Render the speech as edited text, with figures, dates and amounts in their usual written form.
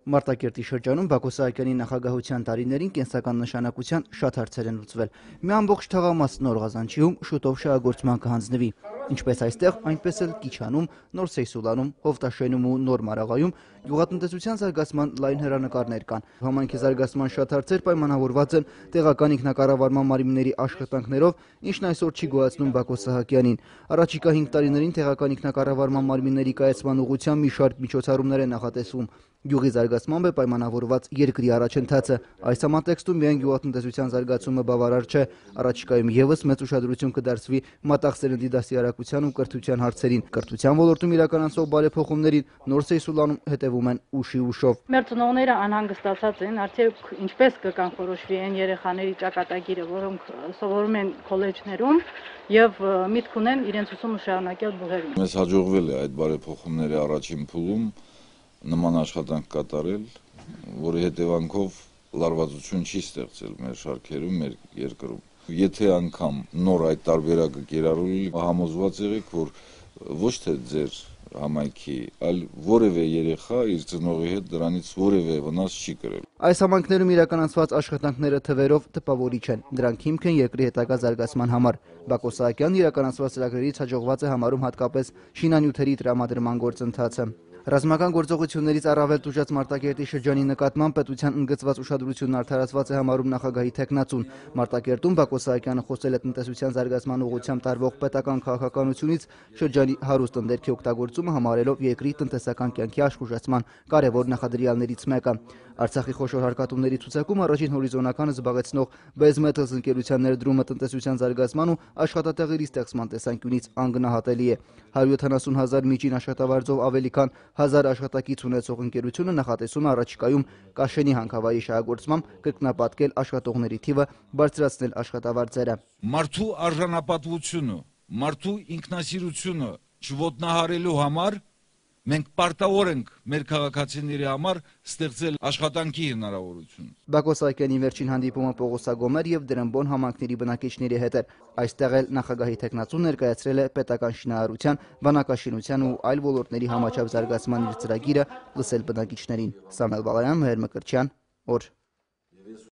Մարտակերտի շրջանում Բակո Սահակյանի նախագահության տարիներին կենսական նշանակության շատ հարցեր են լուծվել։ Մի ամբողջ թաղամաս Նոր Ղազանչիում շուտով շահագործման կհանձնվի։ Ինչպես այստեղ, այնպես էլ Կիչանում, Նոր Սեյսուլանում, Հովտաշենում ու Նոր Մարաղայում գյուղատնտեսության զարգացման լայն հեռանկարներ կան։ Համայնքի զարգացման շատ հարցեր պայմանավորված են տեղական ինքնակառավարման մարմինների աշխատանքներով, ինչն այսօր չի գոյացնում Բակո Սահակյանին։ Առաջիկա 5 տարիներին տեղական ինքնակառավարման մարմինների կայացման ուղղությամբ մի շարք միջոցառումներ են նախատեսվում։ Գյուղի զարգացմամբ է պայմանավորված երկրի առաջընթացը։ Այս համատեքստում միայն գյուղատնտեսության զարգացումը բավարար չէ, առաջիկայում ևս մեծ ուշադրություն կդարձվի մատաղ սերնդի դաստիարակության ու կրթության հարցերին։ Կրթության ոլորտում իրականացվող բարեփոխումներին Նոր Սեյսուլանում հետևում են ուշի ուշով։ Մեր ծնողները անհանգստացած են, արդյոք ինչպես կկանխորոշվի այն երեխաների ճակատագիրը, որոնք սովորում են քոլեջներում եւ միտք ունեն իրենց ուսումը շարունակել բուհերում։ Մեզ հաջողվել է այդ բարեփոխումների առաջին փուլում նման աշխատանք կատարել, որի հետևանքով լարվածություն չի ստեղծել մեր շարքերում, մեր երկրում։ Եթե անգամ նոր այդ տարբերակը կիրառվի, համոզված եղեք, որ ոչ թե ձեր համայնքի, այլ որևէ երեխա իր ծնողի հետ դրանից որևէ վնաս չի կրել։ Այս համայնքներում իրականացված աշխատանքները թվերով տպավորիչ են։ Դրանք հիմք են երկրի հետագա զարգացման համար։ Բակո Սահակյանն իրականացված ծրագրերից հաջողված է համարում հատկապես շինանյութերի տրամադրման գործընթացը։ Ռազմական գործողություններից առավել տուժած Մարտակերտի շրջանի նկատմամբ պետության ընդգծված ուշադրությունն արդարացված է համարում նախագահի թեկնածուն։ Մարտակերտում Բակո Սահակյանը խոսել է տնտեսության զարգացման ուղղությամբ տարվող պետական քաղաքականությունից շրջանի հարուստ ընդերքի օգտագործումը համարելով երկրի տնտեսական կյանքի աշխուժացման կարևոր նախադրյալներից մեկը։ Արցախի խոշոր հարկատուների ցուցակում առաջին հորիզոնականը զբաղեցնող BES Metals ընկերության ներդրումը տնտեսության զարգացման ու աշխատատեղերի ստեղծման տեսանկյունից անգնահատելի է։ 170,000 միջին աշխատավարձով ավելի քան 1000 աշխատակից ունեցող ընկերությունը նախատեսում է առաջիկայում Կաշենի հանքավայրի շահագործմամբ կրկնապատկել աշխատողների թիվը, բարձրացնել աշխատավարձերը։ Մարդու արժանապատվությունը, մարդու ինքնասիրությունը չոտնահարելու համար մենք պարտավոր ենք մեր քաղաքացիների համար ստեղծել աշխատանքի հնարավորություն։ Բակո Սահակյանի վերջին հանդիպումը Պողոսագոմեր եւ Դրամբոն համայնքների բնակիչների հետ էր։ Այստեղ էլ նախագահի թեկնածուն ներկայացրել է պետական շինարարության, բանակաշինության ու այլ ոլորտների համաչափ զարգացման իր ծրագիրը, լսել բնակիչներին։ Սամվել Բալայան, Մհեր Մկրտչյան, օր